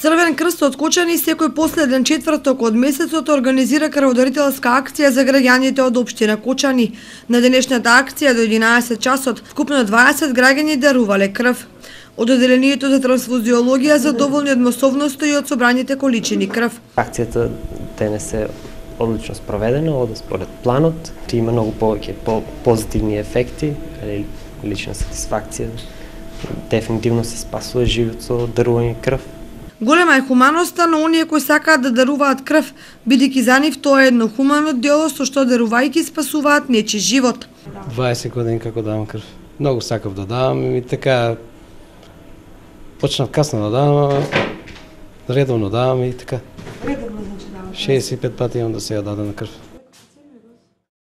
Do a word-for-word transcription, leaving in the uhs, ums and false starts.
Црвен крст од Кочани секој последен четврток од месецот организира крводарителска акција за граѓаните од општина Кочани. На денешната акција до единаесет часот вкупно дваесет граѓани дарувале крв. Од одделението за трансфузиологија задоволни од масовноста и од собраните количини крв. Акцијата денес е одлично спроведена, оде според планот. Има многу повеќе по позитивни ефекти, лична сатисфакција. Дефинитивно се спасува живот со дарување крв. Голема е хуманоста на оние кои сакаат да даруваат крв, бидејќи за нив тоа е едно хумано дело со што дарувајќи спасуваат нечи живот. дваесет години како давам крв. Многу сакав да давам и така почнав касно да давам, редовно давам и така. Редовно значи давам. шеесет и пет пати имам да се ја дадам на крв.